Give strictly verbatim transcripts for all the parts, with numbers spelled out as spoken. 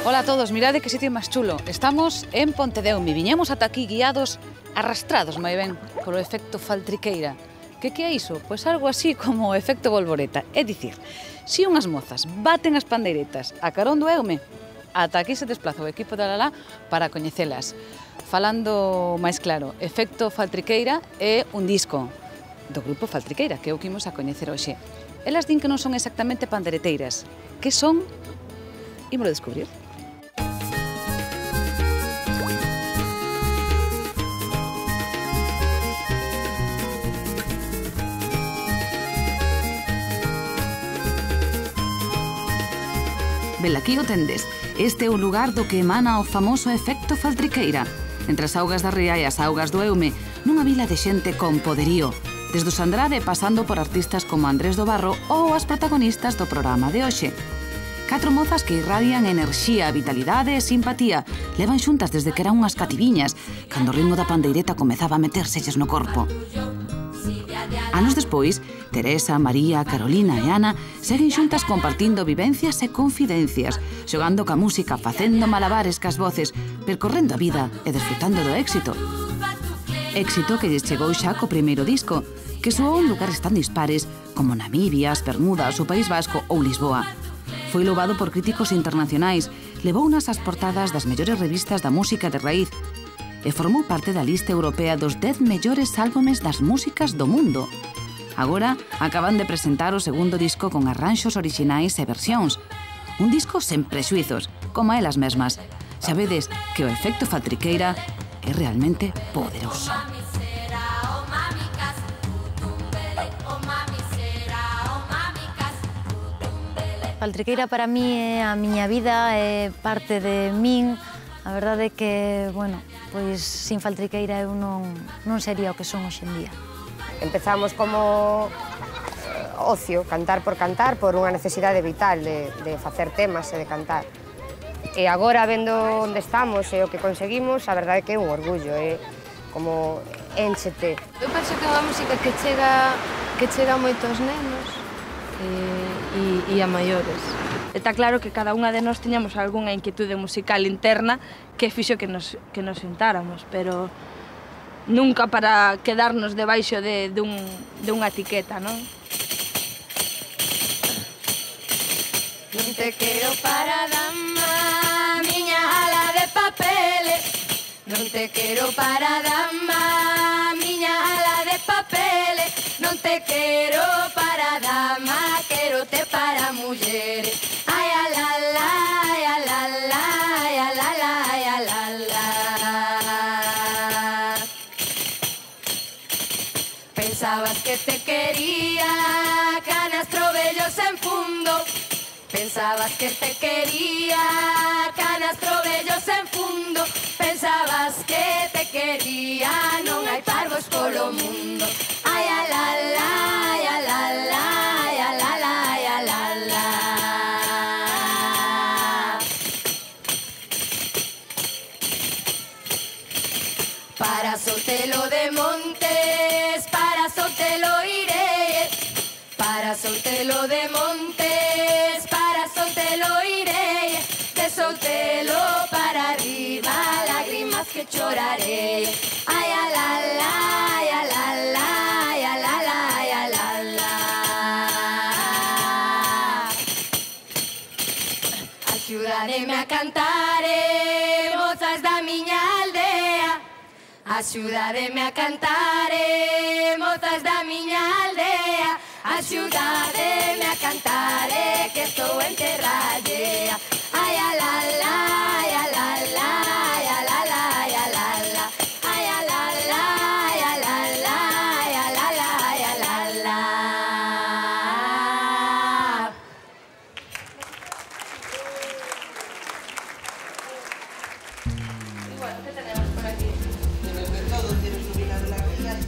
Ola a todos, mirade que sitio máis chulo. Estamos en Pontedeume. Viñemos ata aquí guiados, arrastrados moi ben, polo efecto Faltriqueira. Que que é iso? Pois algo así como o efecto Volvoreta. É dicir, se unhas mozas baten as pandeiretas a carón do Eume, ata aquí se desplaza o equipo da Lalá para coñecelas. Falando máis claro, efecto Faltriqueira é un disco do grupo Faltriqueira, que é o que imos a coñecer hoxe. Elas din que non son exactamente pandeireteiras. Que son? Ímolo descubrir. Velaquí o tendes. Este é o lugar do que emana o famoso efecto Faltriqueira. Entre as augas da ría e as augas do Eume, nunha vila de xente con poderío. Desde os Andrade pasando por artistas como Andrés do Barro ou as protagonistas do programa de hoxe. Catro mozas que irradian enerxía, vitalidade e simpatía. Levan xuntas desde que eran unhas cativiñas, cando o ritmo da pandeireta comezaba a metérselles no corpo. Anos despois, Teresa, María, Carolina e Ana seguen xuntas compartindo vivencias e confidencias, xogando ca música, facendo malabares cas voces, percorrendo a vida e desfrutando do éxito. Éxito que lles chegou xa co primeiro disco, que soou en lugares tan dispares como Namibia, as Bermudas, o País Vasco ou Lisboa. Foi louvado por críticos internacionais, levounas ás portadas das mellores revistas da música de raíz e formou parte da lista europea dos dez mellores álbumes das músicas do mundo. Agora acaban de presentar o segundo disco con arranxos orixinais e versións. Un disco sen prexuizos, como elas mesmas. Xa vedes que o efecto Faltriqueira é realmente poderoso. Faltriqueira para mí é a miña vida, é parte de min. A verdade é que, bueno, pois sin Faltriqueira eu non, non sería o que son hoxe en día. Empezamos como ocio, cantar por cantar, por unha necesidade vital de, de facer temas e de cantar. E agora, vendo onde estamos e o que conseguimos, a verdade é que é un orgullo, é como énchete. Eu penso que é unha música que chega, que chega moito aos nenos e, e, e a maiores. Está claro que cada unha de nós tiñamos algunha inquietude musical interna que fixo que nos, que nos sentáramos, pero nunca para quedarnos debaixo de, de, un, de unha etiqueta, non? Non te quero para dama, miña ala de papeles. Non te quero para dama, miña ala de papeles. Non te quero para dama, querote para mulleres. Ai, a la la, ai, a la la, ai, a la la, ai, a la la. Pensabas que te quería, canastro vellos en fundo. Pensabas que te quería, canastro vellos en fundo. Pensabas que te quería, non hai parvos polo mundo. Ai, a la la, ai, a la la, ai, a la la, ai, a la la. Para Sotelo de Montes, para Sotelo iré. Para Sotelo de Montes, para Sotelo iré. De Sotelo para arriba, lágrimas que choraré. Ay, a la la, ay, a la la, ay, a la la, ay, a la la. Axúdademe a cantar, eh, mozas da miña aldea. Axúdademe a cantar, eh, mozas da miña aldea. Axúdademe a cantar, eh, que estou en terra allea. Ai, a la la, ai, a la la, ai, a la la, ai, a la la. Ai, a la la, ai, a la la, ai, a la la, ai, a la la.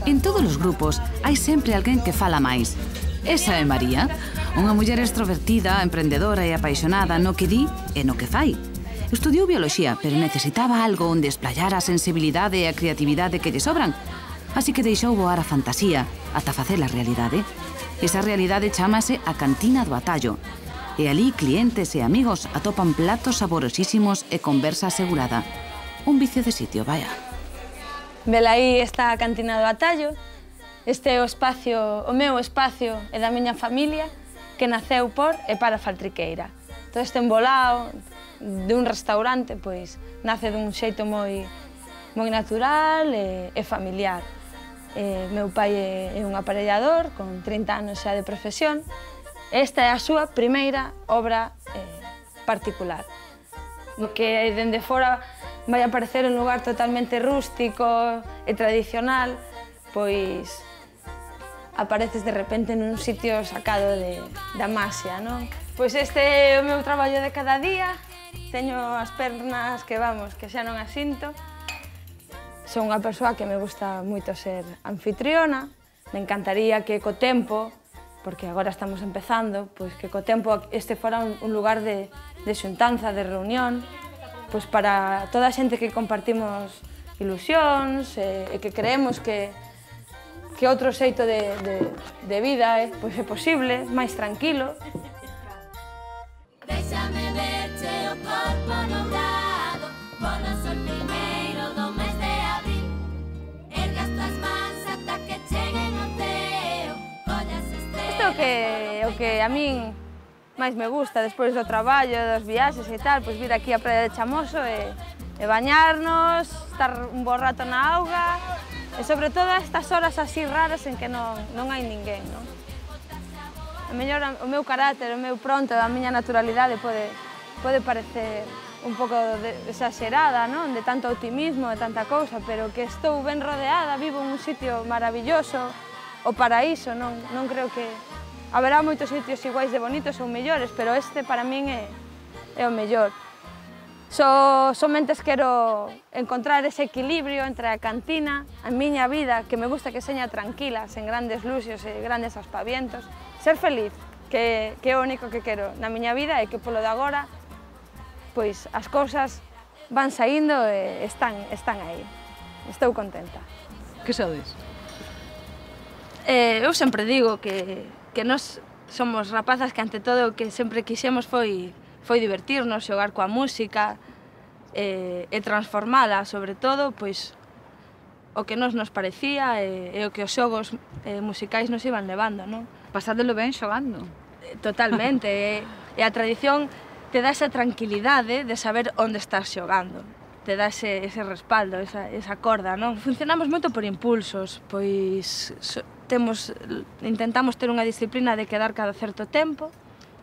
En todos os grupos hai sempre alguén que fala máis. Esa é María, unha muller extrovertida, emprendedora e apaixonada no que di e no que fai. Estudiou bioloxía, pero necesitaba algo onde esplayar a sensibilidade e a creatividade que lle sobran. Así que deixou voar a fantasía ata facer a realidade. Esa realidade chámase a Cantina do Atallo. E alí clientes e amigos atopan platos saborosísimos e conversa asegurada. Un vicio de sitio, vaya. Velaí está a cantina do Atallo. Este é o espacio, o meu espacio e da miña familia que naceu por e para Faltriqueira. Todo este embolao de un restaurante, pois, nace dun xeito moi, moi natural e, e familiar. E, meu pai é, é un aparellador con trinta anos xa de profesión. Esta é a súa primeira obra eh, particular. O que dende fora vai a parecer un lugar totalmente rústico e tradicional, pois apareces de repente nun sitio sacado de, da Maxia, non? Pois este é o meu traballo de cada día. Teño as pernas que, vamos, que xa non as sinto. Son unha persoa que me gusta moito ser anfitriona. Me encantaría que co tempo, porque agora estamos empezando, pois que co tempo este fora un, un lugar de, de xuntanza, de reunión, pois para toda a xente que compartimos ilusións e, e que creemos que que outro xeito de, de, de vida eh, pois é posible, máis tranquilo. Déxame verche o corpo dourado, polo sol primeiro do mes de abril. Ergue as tuas mans ata que cheguen ao ceo, collas estrelas. Isto é o que, o que a min máis me gusta despois do traballo, dos viaxes e tal, pois vir aquí á praia de Chamoso e, e bañarnos, estar un bo rato na auga, e sobre todo a estas horas así raras en que non, non hai ninguén, non? A mellor o meu carácter, o meu pronto, a miña naturalidade pode, pode parecer un pouco de, exagerada, non? De tanto optimismo, de tanta cousa, pero que estou ben rodeada, vivo en un sitio maravilloso, o paraíso, non, non creo que... Haberá moitos sitios iguais de bonitos ou mellores, pero este para min é, é o mellor. So, somente quero encontrar ese equilibrio entre a cantina, a miña vida, que me gusta que seña tranquila, sen grandes luxos e grandes aspavientos. Ser feliz, que, que é o único que quero na miña vida e que polo de agora, pois as cousas van saindo e están, están aí. Estou contenta. Que sodes? Eh, eu sempre digo que, que nós somos rapazas que ante todo o que sempre quixemos foi foi divertirnos, xogar coa música e, e transformala, sobre todo, pois, o que nos nos parecía e, e o que os xogos eh, musicais nos iban levando, non? Pasádelo ben xogando. Totalmente, e, e a tradición te dá esa tranquilidade de saber onde estás xogando, te dá ese, ese respaldo, esa, esa corda, non? Funcionamos moito por impulsos, pois so, temos, intentamos ter unha disciplina de quedar cada certo tempo.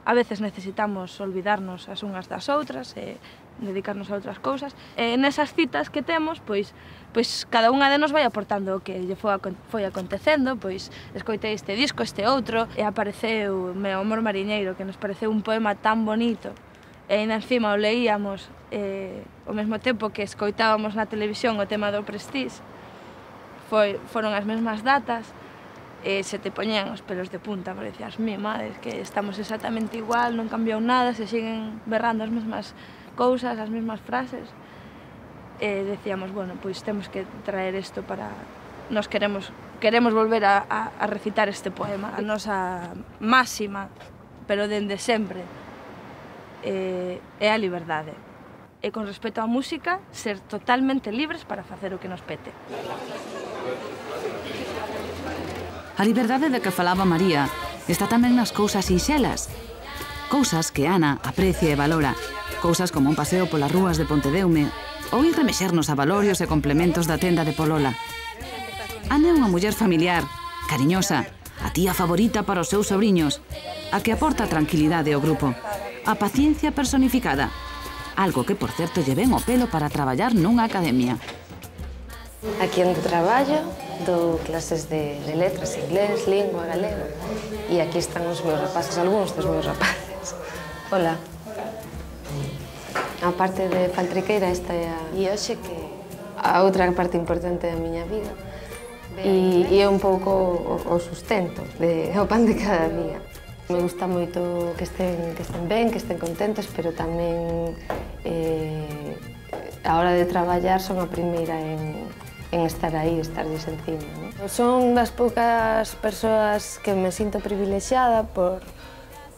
A veces necesitamos olvidarnos as unhas das outras e dedicarnos a outras cousas. E nesas citas que temos, pois, pois cada unha de nos vai aportando o que lle foi, foi acontecendo, pois escoitei este disco, este outro, e apareceu Meu amor mariñeiro, que nos pareceu un poema tan bonito, e ainda encima o leíamos e, ao mesmo tempo que escoitábamos na televisión o tema do Prestige. Foi, foron as mesmas datas, e se te poñían os pelos de punta, parecías, mi madre, que estamos exactamente igual, non cambiou nada, se siguen berrando as mesmas cousas, as mesmas frases. E decíamos, bueno, pois temos que traer isto para... Nos queremos, queremos volver a, a, a recitar este poema. A nosa máxima, pero dende sempre, é, é a liberdade. E con respecto á música, ser totalmente libres para facer o que nos pete. A liberdade de que falaba María está tamén nas cousas sinxelas. Cousas que Ana aprecia e valora. Cousas como un paseo polas rúas de Pontedeume ou ir remexernos a valorios e complementos da tenda de Polola. Ana é unha muller familiar, cariñosa, a tía favorita para os seus sobriños, a que aporta tranquilidade ao grupo, a paciencia personificada, algo que, por certo, lle ven o pelo para traballar nunha academia. Aquí onde traballo, dou clases de, de letras, inglés, lingua, galego. E aquí están os meus rapaces, algúns dos meus rapaces. Hola. A parte de Faltriqueira, esta é a... E hoxe que... A outra parte importante da miña vida. E, e é un pouco o, o sustento, de, o pan de cada día. Me gusta moito que estén, que estén ben, que estén contentos, pero tamén eh, a hora de traballar son a primeira en, en estar aí, estarlles encima, ¿no? Son das poucas persoas que me sinto privilexiada por,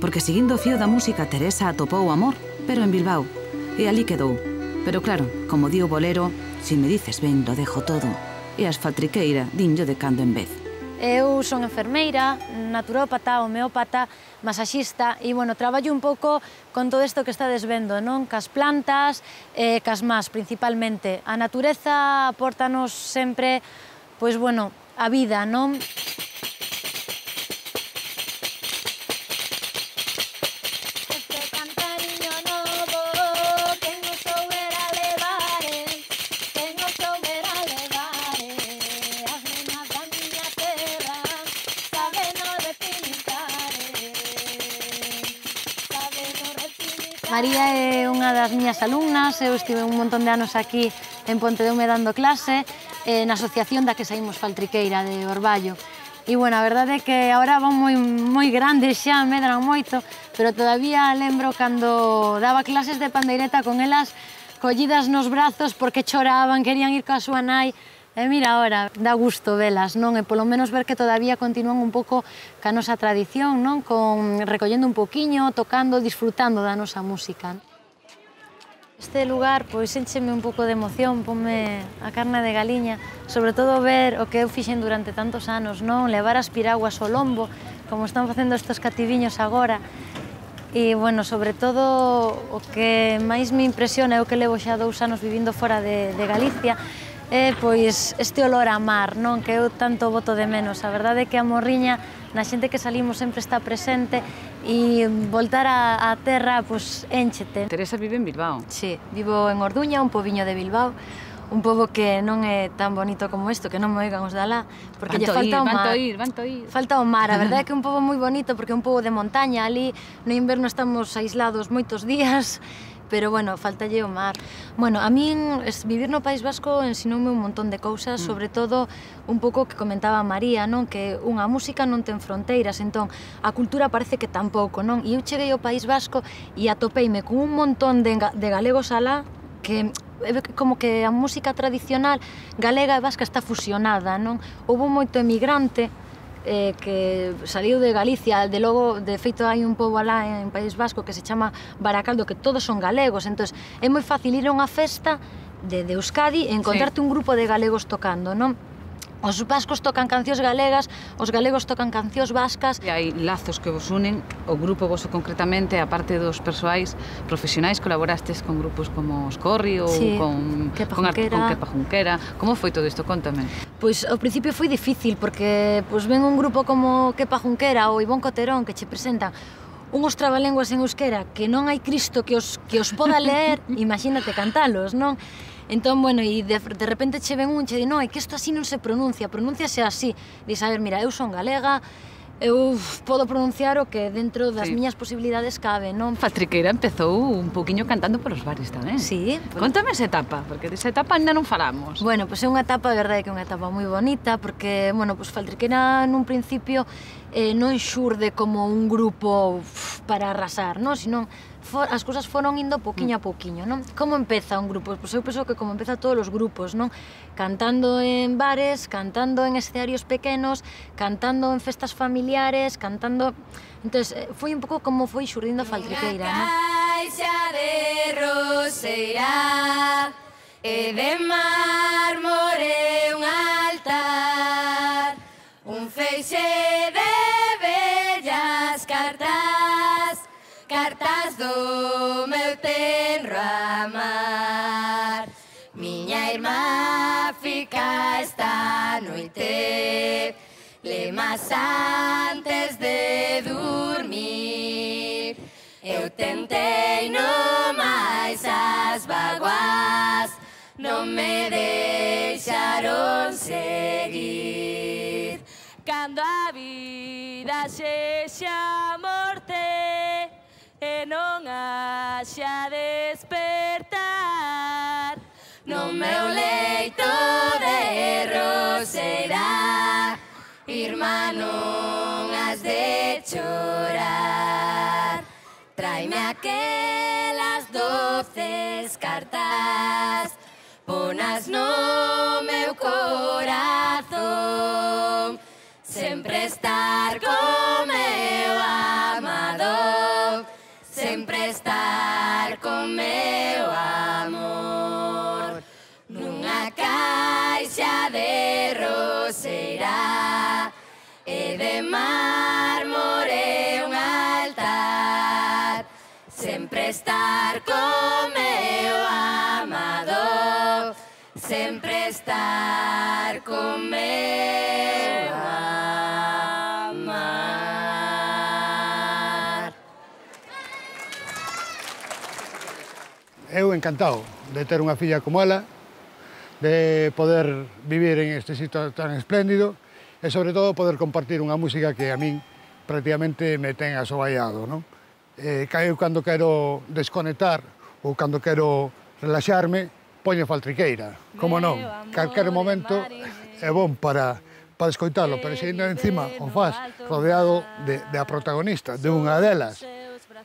porque seguindo o fío da música Teresa atopou o amor, pero en Bilbao, e ali quedou. Pero claro, como di o bolero, si me dices ben, lo dejo todo, e as faltriqueira dinllo de cando en vez. Eu son enfermeira, naturópata, homeópata, masaxista e, bueno, traballo un pouco con todo isto que estades vendo, non? Cas plantas e cas más, principalmente. A natureza apórtanos sempre, pois, bueno, a vida, non? María é unha das miñas alumnas, eu estive un montón de anos aquí en Pontedeume dando clase, eh, na asociación da que saímos faltriqueira de Orballo. E, bueno, a verdade é que agora van moi, moi grandes xa, medran moito, pero todavía lembro cando daba clases de pandeireta con elas collidas nos brazos porque choraban, querían ir coa súa nai. E mira, ahora, dá gusto velas, non? E polo menos ver que todavía continúan un pouco ca nosa tradición, non? Con, recollendo un poquiño, tocando, disfrutando da nosa música. Este lugar, pois, encheme un pouco de emoción, ponme a carne de galiña, sobre todo ver o que eu fixen durante tantos anos, non? Levar as piraguas ao lombo, como están facendo estes cativiños agora. E, bueno, sobre todo, o que máis me impresiona, eu que levo xa dous anos vivindo fora de, de Galicia, é, pois, este olor a mar, non? Que eu tanto boto de menos. A verdade é que a morriña, na xente que salimos, sempre está presente e voltar á terra, pois, énchete. Teresa vive en Bilbao. Sí, vivo en Orduña, un pobiño de Bilbao, un pobo que non é tan bonito como isto, que non me oigan os de alá, porque lle falta o mar. Vanto ir, vanto ir. Falta o mar, a verdade é que é un pobo moi bonito, porque é un pobo de montaña, ali no inverno estamos aislados moitos días, pero, bueno, faltalle o mar. Bueno, a min vivir no País Vasco ensinoume un montón de cousas, sobre todo un pouco que comentaba María, non? Que unha música non ten fronteiras, entón a cultura parece que tampouco, non? E eu cheguei ao País Vasco e atopeime con un montón de, de galegos alá que como que a música tradicional galega e vasca está fusionada, non? Houve moito emigrante Eh, que saliu de Galicia, de logo, de feito hai un pobo alá en País Vasco que se chama Baracaldo, que todos son galegos, entón é moi fácil ir a unha festa de, de Euskadi e encontrarte sí. un grupo de galegos tocando, non? Os vascos tocan cancións galegas, os galegos tocan cancións vascas. E hai lazos que vos unen, o grupo voso concretamente, a parte dos persoais profesionais, colaborastes con grupos como Oscorri ou sí, con, Kepa con, Junquera. con Kepa Junquera. Como foi todo isto? Contame. Pois ao principio foi difícil, porque pois, ven un grupo como Kepa Junquera ou Ivón Coterón que che presentan unhos trabalenguas en euskera que non hai Cristo que os, que os poda ler, imagínate cantalos, non? Entón, bueno, e de, de repente che ven un che di, non, é que isto así non se pronuncia, pronúnciase así. Dis, a ver, mira, eu son galega, eu podo pronunciar o que dentro das sí. miñas posibilidades cabe, non? Faltriqueira empezou un pouquiño cantando polos bares tamén. Sí. Contame esa etapa, porque desa etapa ainda non falamos. Bueno, pois é unha etapa, a verdade, que é unha etapa moi bonita, porque, bueno, pois Faltriqueira nun principio eh, non xurde como un grupo uf, para arrasar, non? Sino for, as cousas foron indo poquinho a poquinho, non? Como empeza un grupo? Pois eu penso que como empeza todos os grupos, non? Cantando en bares, cantando en escenarios pequenos, cantando en festas familiares, cantando... Entón, foi un pouco como foi xurdindo a Faltriqueira, non? Caixa de roseira e de mármore un altar, un feixe de bellas cartas, cartas do meu tenro amar. Miña irmá fica esta noite lemas antes de dormir. Eu tentei no máis as vaguas, non me deixaron seguir. Cando a vida sexa morte e non haxa despertar, no meu leito de roseira, irmá, non has de chorar. Traime aquelas doces cartas, ponas no meu corazón. sempre estar co meu amado, sempre estar co meu amor, nunha caixa de roseira e de mármore un altar, sempre estar co meu amado, sempre estar co meu amar. Eu encantado de ter unha filla como ela, de poder vivir en este sitio tan espléndido e, sobre todo, poder compartir unha música que a min prácticamente me ten asoballado, non? Eh, eu, cando quero desconectar ou cando quero relaxarme, poño faltriqueira. Como non? Calquer momento é bon para, para escoitarlo, pero se ainda encima o faz rodeado de, de a protagonista, de unha delas,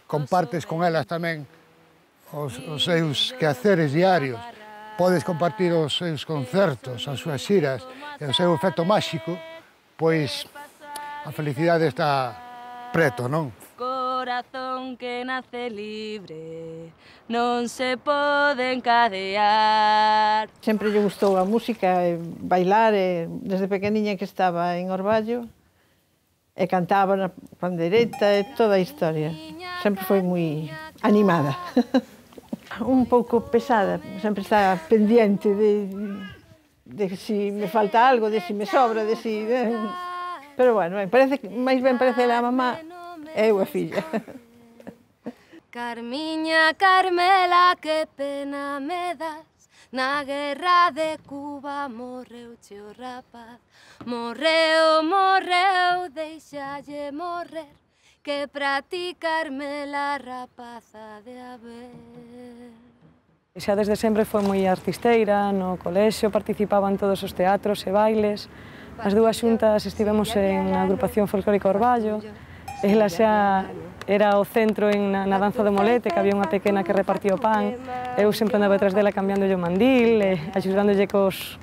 compartes con elas tamén os, os seus quehaceres diarios, podes compartir os seus concertos, as súas xiras e o seu efecto máxico, pois a felicidade está preto, non? Corazón que nace libre, non se pode encadear. Sempre lle gustou a música e bailar, e desde pequeniña que estaba en Orballo e cantaba na pandeireta e toda a historia. Sempre foi moi animada. Un pouco pesada, sempre está pendiente de, de si me falta algo, de si me sobra, de si... De... Pero bueno, parece, máis ben parece a mamá e eu a filla. Carmiña, Carmela, que pena me das, na guerra de Cuba morreu o rapaz. Morreu, morreu, deixalle morrer, que pra ti, Carmela, rapaza de haber. Xa desde sempre foi moi artisteira, no colexio participaba en todos os teatros e bailes. As dúas xuntas estivemos en a agrupación folclórica Orballo. Ela xa era o centro en, na, na danza do molete, que había unha pequena que repartía o pan. Eu sempre andaba detrás dela cambiándolle o mandil, e axudándolle cos,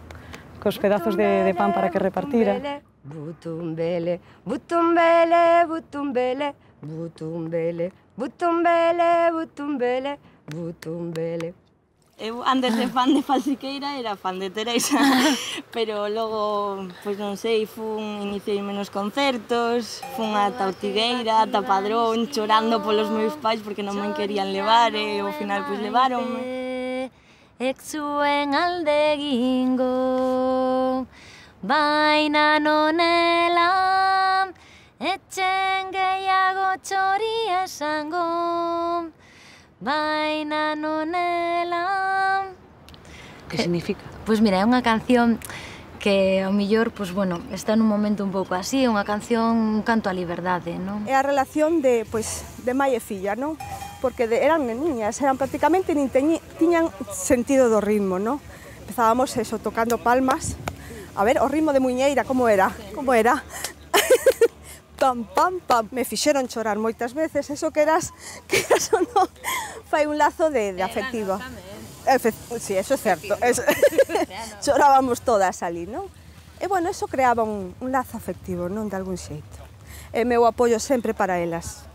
cos pedazos de, de pan para que repartira. Butumbele, butumbele, butumbele, butumbele, butumbele, butumbele, butumbele. Eu, antes de fan de faltriqueira, era fan de Teresa, pero logo, pois non sei, fun, iniciei menos concertos, fun ata Ortigueira, ata Padrón, chorando polos meus pais porque non me querían levar, e ao final, pois, levaronme. Exuen aldegingo, baina nonela, etxen gehiago txori esango, baina nonela. Que significa? Pois mira, é unha canción que ao millor, pois bueno, está nun momento un pouco así, é unha canción, un canto á liberdade, non? É a relación de, pois, de mai e filla, non? Porque de, eran neniñas, eran prácticamente nin teñi, tiñan sentido do ritmo, non? Empezábamos eso, tocando palmas. A ver, o ritmo de Muiñeira, como era? Como era? Pam, pam, pam. Me fixeron chorar moitas veces, eso que eras, que eras o non, fai un lazo de, de afectivo. Efe, sí, eso é certo. Es, chorábamos todas ali, non? E, bueno, eso creaba un, un lazo afectivo, non? De algún xeito. E meu apoio sempre para elas.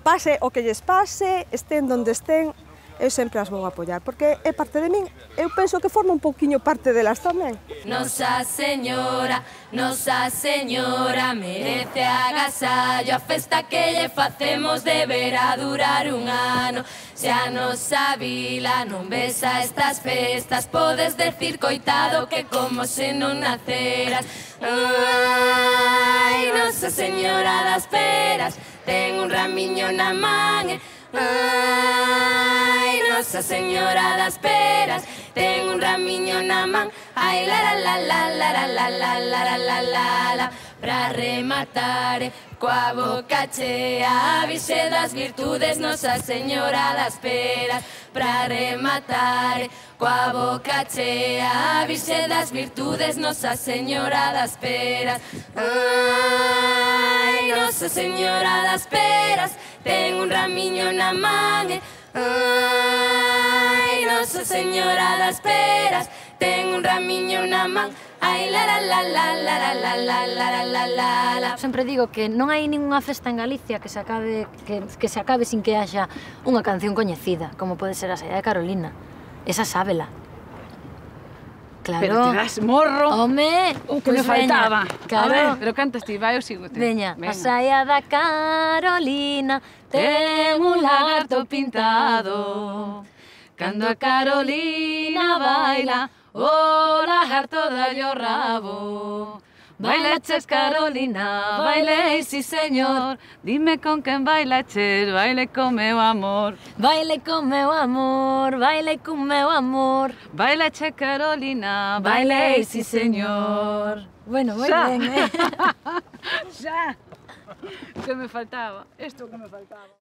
Pase o que lles pase, estén donde estén, eu sempre as vou apoiar, porque é parte de min, eu penso que forma un pouquiño parte delas tamén. Nosa Señora, Nosa Señora, merece agasallo, a festa que lle facemos deberá durar un ano. Se a nosa vila non besa estas festas, podes decir, coitado, que como se non naceras. Ai, Nosa Señora das Peras, ten un ramiño na man, e ai, Nosa Señora das Peras, ten un ramiño na man, ai, la la la la la la la la la la la la. Pra rematar coa boca chea, a Virxe das Virtudes, Nosa Señora das Peras. Pra rematar coa boca chea, a Virxe das Virtudes, Nosa Señora das Peras. Ai, Nosa Señora das Peras, ten un ramiño na man, ai, Nosa Señora das Peras, ten un ramiño na man. Ai la la la la la la la la la la la la. Sempre digo que non hai ningunha festa en Galicia que se acabe que, que se acabe sin que haxa unha canción coñecida, como pode ser a saída de Carolina. Esa sábela. Claro. Pero te das morro. Home, o que me faltaba. Claro. A ver, pero cantas ti, vai, eu sigo te. Veña, a saia da Carolina ten un lagarto pintado. Cando a Carolina baila, o lagarto dalle o rabo. Bailaches, Carolina, bailei, si señor. Dime con quen bailaches, baile con meu amor. Baile con meu amor, baile con meu amor. Bailaches, Carolina, bailei, si señor. Bueno, moi ben, eh? Xa. Que me faltaba, isto que me faltaba.